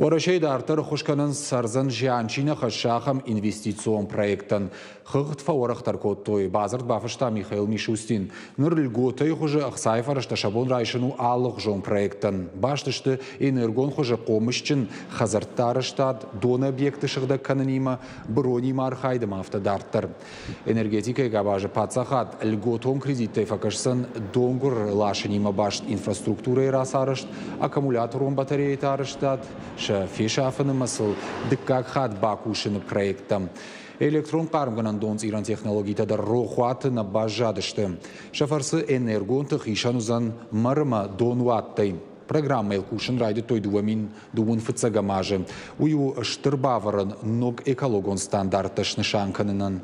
Уӕрӕсейы дарддӕр ӕххуыс кӕнынц ӕрдзӕн зиан чи нӕ хӕссы, ахӕм инвестицион проекттӕн. Хыгъд фӕуӕрӕхдӕр кодтой, бадзырд бафыста Михаил Мишустин. Ныр льготӕйы хуызы ӕхцайы фӕрӕзтӕ сӕ бон райсын у алыгъуызон проекттӕн. Баст сты энергон хуызы хъомысджын хӕдзӕртты арӕзтад, доны объекты сыгъдӕг кӕнынимӕ, быронимӕ архайд ӕмӕ афтӕ дарддӕр. Энергетикӕйы къабазы паддзахад льготон кредиттӕй фӕкӕсдзӕн донгуыр ласынимӕ баст инфраструктурӕйы рацарӕзт, аккумуляторон батареяты арӕзтад, сӕ фесафыны ӕмӕ сыл дыккаг хатт бакусыны проекттӕм. Электрон хъармгӕнӕн донцъирӕн технологитӕ дӕр рохуаты нӕ баззадысты. Сӕ фӕрцы энергон тых исӕн уыдзӕн мӕр ӕмӕ донуаттӕй. Программӕйыл кусын райдыдтой 2021 азы. Уый у стыр бавӕрӕн ног экологон стандарттӕ снысан кӕнынӕн.